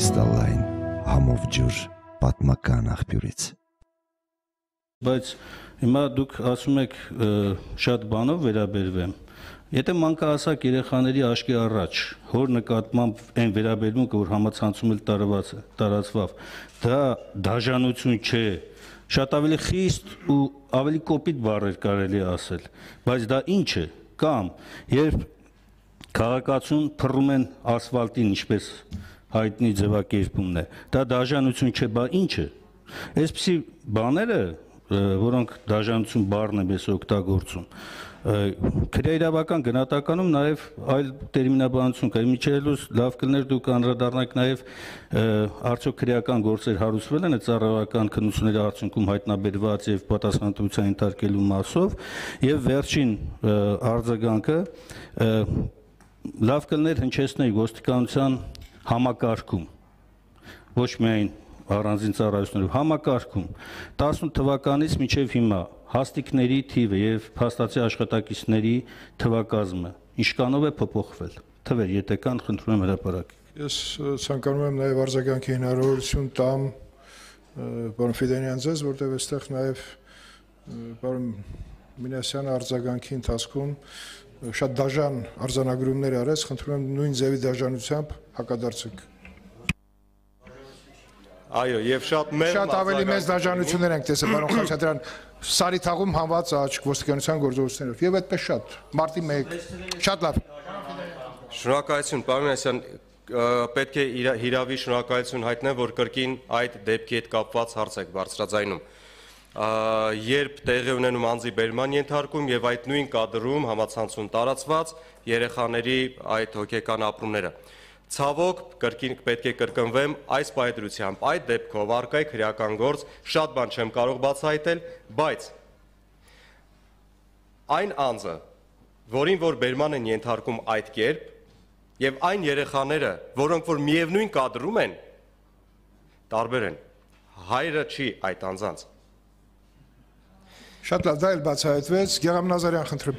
Կրիստալային համով ջուր պատմական աղբյուրից։ Բայց հիմա դուք ասում եք շատ բանով վերաբերվեմ։ Եթե մանկահասակ երեխաների աչքի առաջ հոր նկատմամբ այն վերաբերմունքը, որ համացանցում էլ տարածվավ, դա դաժանություն չէ, շատ ավելի խիստ ու ավելի կոպիտ բառեր կարելի ասել, բայց դա ինչ է, կամ երբ քաղաքացուն փռում են ասֆալտին, ինչպես հայտնի ձևակերպումն է, դա դաժանություն չէ, բա ինչ է։ Այսպիսի բաները, որոնք դաժանություն բառն է մեզ օգտագործում, քրեաիրավական գնահատականում նաև այլ տերմինաբանություն կա։ Միջելուց լավ կլներ դուք անդրադառնաք նաև արդյոք քրեական գործեր հարուցվել են ծառայական քննությունների արդյունքում հայտնաբերված եւ պատասխանատվության ենթարկելու մասով, եւ վերջին արձագանքը լավ կլներ հնչեցնել ոստիկանության համակարգում, ոչ միայն առանձին ծառայություններով, համակարգում 18 թվականից մինչև հիմա հաստիկների թիվը եւ փաստացի աշխատակիցների թվակազմը ինչքանով է փոփոխվել։ Թվեր, եթե կան, խնդրում եմ հրապարակեք։ Ես ցանկանում եմ նաեւ արձագանքի հնարավորություն տամ պարոն Ֆիդանյան ձեզ, որտեղ այստեղ նաեւ պարոն Մինասյանը արձագանքի ընթացքում շատ դաժան արձանագրումներ արեց, խնդրում եմ նույն ձևի դաժանությամբ հակադարձեք։ Այո, եւ շատ ավելի մեծ դաժանություններ ենք տեսել, պարոն Խաչատրյան, Սարիթաղում հանված աչք ոստիկանության գործողություններով, եւ այդպես շատ, մարտի 1, շատ լավ։ Շնորհակալություն, պարոն Մինասյան, պետք է հիրավի շնորհակալություն հայտնեմ, որ կրկին այդ դեպքի հետ կապված հարց եք բարձրաձայնում։ Երբ տեղի ունենում անձի բերման ենթարկում եւ այդ նույն կադրում համացանցում տարածված երեխաների այդ հոգեկան ապրումները։ Ցավոք, կրկին պետք է կրկնվեմ այս պայծրությամբ, այդ դեպքով առկա է քրեական գործ, շատ բան չեմ կարող բացահայտել, բայց այն անձը, որին որ բերման են ենթարկում այդ կերպ, եւ այն երեխաները, որոնք որ միևնույն կադրում են, տարբեր են։ Հայրը չի այդ անձանց։ Շատ լավ, դա էլ բացահայտվեց, Գեղամ Նազարյան, խնդրեմ։